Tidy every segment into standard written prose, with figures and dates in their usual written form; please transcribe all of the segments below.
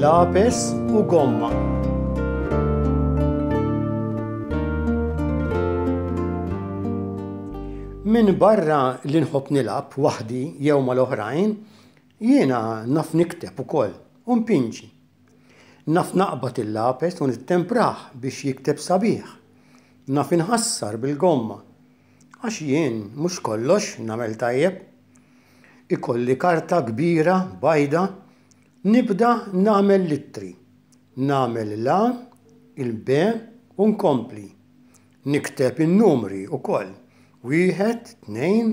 Lapes u gomma. Minbarra li nħobb nilgħab waħdi jew mal-oħrajn, jiena naf nikteb ukoll u npinġi. Naf naqbad il-lapes u nittemprah biex jikteb sabiħ. Naf inħassar bil-gomma. Għax jien mhux kollox nagħmel tajjeb. Ikolli karta kbira bajda, nibda nagħmel l-ittri. Nagħmel l-A, il-B u nkompli. Nikteb in-numri wkoll, wieħed, tnejn,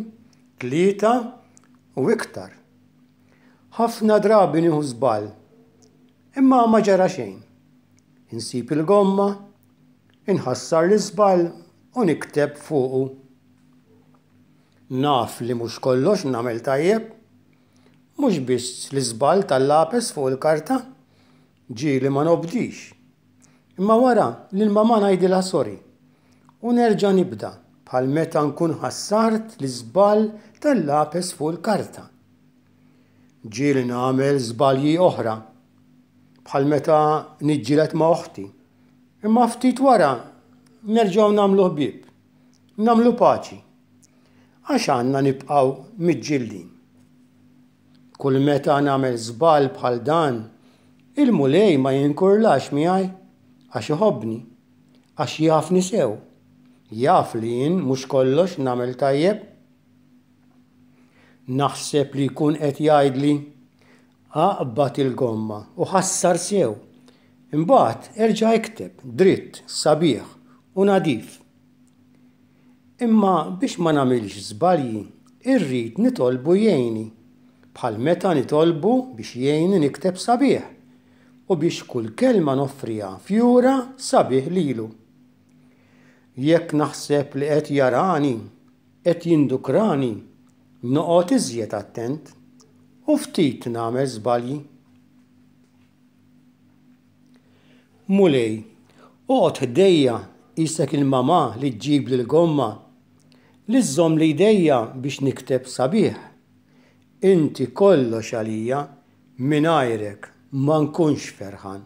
tlieta u iktar. Ħafna drabi nieħu żball, imma ma ġara xejn. Insib il-gomma, inħassar l-iżball u nikteb fuqu. Naf li mhux kollox nagħmel tajjeb. Mhux biss l-iżball tal-lapes fuq il-karta. Ġieli ma nobdix. Imma wara lil mamà ngħidilha sorry. U nerġa' nibda bħal meta nkun ħassart l-iżball tal-lapes fuq il-karta. Ġieli nagħmel żbalji oħra. Bħal meta niġġieled ma' oħti. Imma ftit wara nerġgħu nagħmlu ħbieb. Nagħmlu paċi. Għax għandna nibqgħu miġġieldin. Kull meta nagħmel żball bħal dan, il-Mulej ma jinkurlax miegħi għax iħobbni, għax jafni sew. Jaf li jien mhux kollox nagħmel tajjeb. Naħseb li jkun qed jgħidli, Aqbad il-gomma u ħassar sew. Imbagħad erġa' ikteb dritt, sabiħ u nadif. Imma biex ma nagħmilx żbalji, irrid nitolbu jgħinni, bħal meta nitolbu biex jgħinni nikteb sabiħ u biex kull kelma noffriha fjura sabiħ lilu. Jekk naħseb li qed jarani, qed jindukrani, noqgħod iżjed attent u ftit nagħmel żbalji. Mulej, oqgħod ħdejja qisek il-mamà li ġġibli l-gomma, li żżommli jdejja biex nikteb sabiħ. Inti kollox għalija, mingħajrek ma nkunx ferħan.